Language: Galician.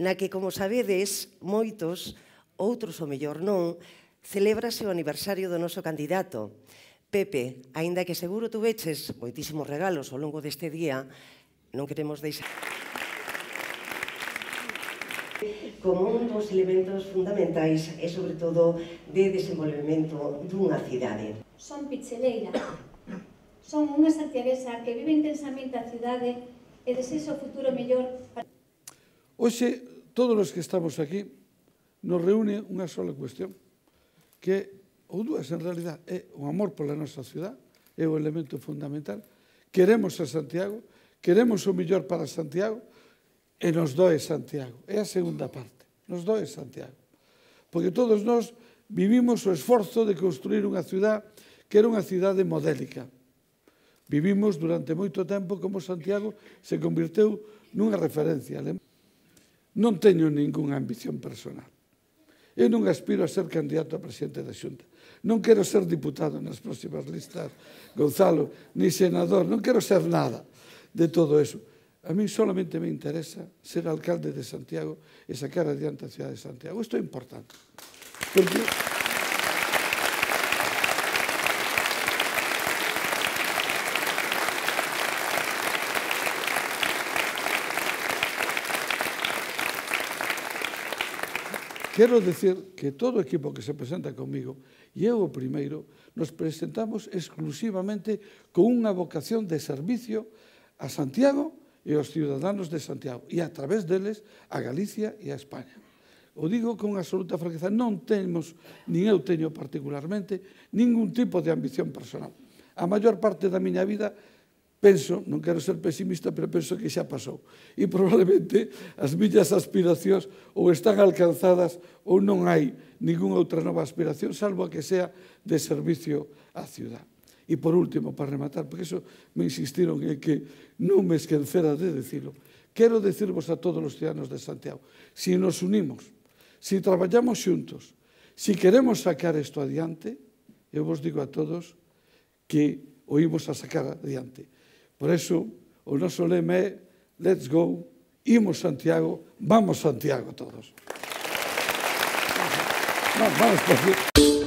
Na que, como sabedes, moitos, outros o mellor non, celébrase o aniversario do noso candidato. Pepe, aínda que seguro tuveches moitísimos regalos ao longo deste día, non queremos deixar como un dos elementos fundamentais e, sobre todo, de desenvolvemento dunha cidade. Son picheleira. Son unha santiaguesa que vive intensamente a cidade e desexa o futuro mellor para... Hoxe, todos os que estamos aquí, nos reúne unha sola cuestión, que, ou dúas en realidad, é o amor pola nosa ciudad, é o elemento fundamental. Queremos a Santiago, queremos o mellor para Santiago, e nos doe Santiago. É a segunda parte, nos doe Santiago. Porque todos nós vivimos o esforzo de construir unha ciudad que era unha cidade modélica. Vivimos durante moito tempo como Santiago se convirteu nunha referencia. Non teño ningunha ambición personal. Eu non aspiro a ser candidato a presidente da Xunta. Non quero ser diputado nas próximas listas, Gonzalo, ni senador. Non quero ser nada de todo eso. A mí solamente me interesa ser alcalde de Santiago e sacar adiante a cidade de Santiago. Isto é importante. Porque quero dicir que todo o equipo que se presenta comigo, e eu o primeiro, nos presentamos exclusivamente con unha vocación de servicio a Santiago e aos ciudadanos de Santiago, e a través deles a Galicia e a España. O digo con absoluta franqueza, non temos, nin eu teño particularmente, ningún tipo de ambición personal. A maior parte da miña vida penso, non quero ser pesimista, pero penso que xa pasou. E probablemente as miñas aspiracións ou están alcanzadas ou non hai ninguna outra nova aspiración, salvo a que sea de servicio á ciudad. E por último, para rematar, porque iso me insistiron en que non me esquecera de decirlo, quero decirvos a todos os ciudadanos de Santiago, si nos unimos, si traballamos xuntos, si queremos sacar isto adiante, eu vos digo a todos que o imos a sacar adiante. Por eso, o noso lema é Let's go, imos Santiago, vamos Santiago todos. Vamos por aquí.